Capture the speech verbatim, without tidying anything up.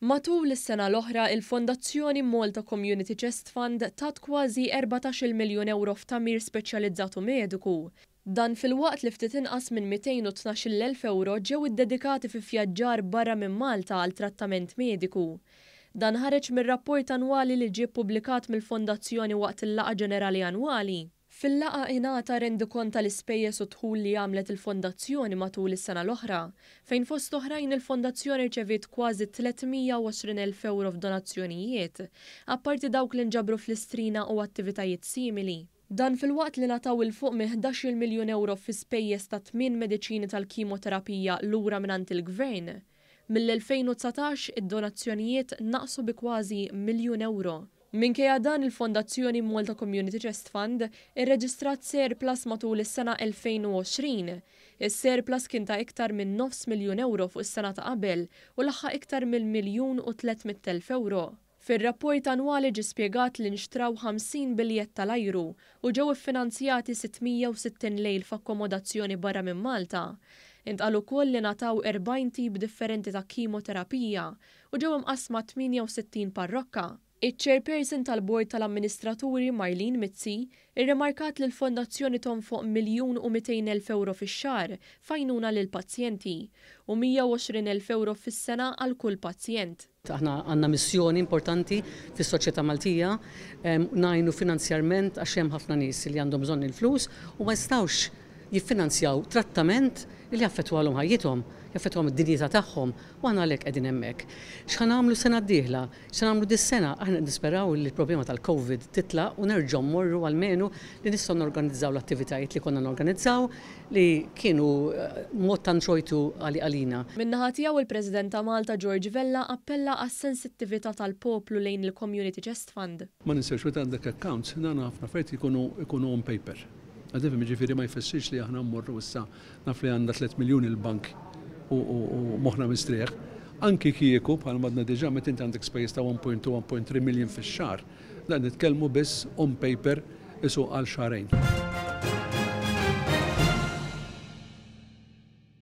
Matul is-sena l-oħra, il-Fondazzjoni Malta Community Chest Fund tat kważi erbatax-il miljun euro f'tagħmir speċjalizzat u mediku. Dan filwaqt li ftit inqas minn mitejn u tnax-il elf euro ġew iddedikati fi vjaġġar barra minn Malta għal trattament mediku. Dan ħareġ mir-rapport annwali li ġie ppubblikat mill-Fondazzjoni waqt il-laqgħa ġenerali annwali. Fil-laqgħa ingħata rendikont tal-ispejjeż u dħul li għamlet il-Fondazzjoni matul is-sena l-oħra, fejn fost oħrajn il-Fondazzjoni rċeviet kważi tliet mija u għoxrin elf euro f'donazzjonijiet, apparti dawk li nġabru fl-Istrina u attivitajiet simili. Dan filwaqt li ngħataw 'il fuq minn ħdax-il miljun euro fi spejjeż ta' tmien mediċini tal-kimoterapija lura mingħand il-Gvern. Mill-elfejn u dsatax id-donazzjonijiet naqsu bi kważi miljun euro. Minkejja dan, il-Fondazzjoni Malta Community Chest Fund irreġistrat surplus matul is-sena elfejn u għoxrin. Is-surplus kien ta' iktar minn nofs miljun euro fuq is-sena ta' qabel u laħaq iktar minn miljun u tliet mitt elf euro. Fir-rapport annwali ġie spjegat li nxtraw ħamsin biljett tal-ajru u ġew iffinanzjati sitt mija u sittin lejl f'akkomodazzjoni barra minn Malta. Intqal ukoll li ngħataw erbgħin tip differenti ta' kimoterapija u ġew imqassma tmienja u sittin parrokka. Iċ-chairperson tal-Bord tal-Amministraturi Marlene Mizzi irrimarkat li l-Fondazzjoni tonfoq miljun u mitejn elf euro fix-xahar f'għajnuna lil pazjenti u mija u għoxrin elf euro fis-sena għal kull pazjent. Aħna għandna missjoni importanti fis-soċjetà Maltija, em, ngħinu finanzjarment għax hemm ħafna nies li għandhom bżonn il-flus u ma jistgħux jiffinanzjaw trattament li jaffettwalhom ħajjithom, jaffettwalhom id-dinjità tagħhom, u aħna għalhekk qegħdin hemmhekk. X'ħa nagħmlu sena d-dieħla? X'ħa nagħmlu dis-sena? Aħna nisperaw li l-problema tal-Covid titlaq u nerġgħu mmorru għalmenu li nistgħu norganizzaw l-attivitajiet li konna norganizzaw li kienu, eh, mod ta' introjtu għali għalina. Min-naħa tiegħu il-President ta' Malta George Vella appella għas-sensittività tal-poplu lejn il-Community Chest Fund. Ma ninsewx meta għandek accounts, nagħna ħafna affarijiet ikunu, ikunu on paper. Għadifim, ġifieri ma jfissirx li aħna mmorru issa naf li għandna tliet miljuni l-bank u, u, u moħħna mistrieħ. Anki kieku bħal madna diġà meta inti għandek spejjeż ta' one point two, one point three million fix-xahar, dan nitkellmu biss on paper isu għal xahrejn.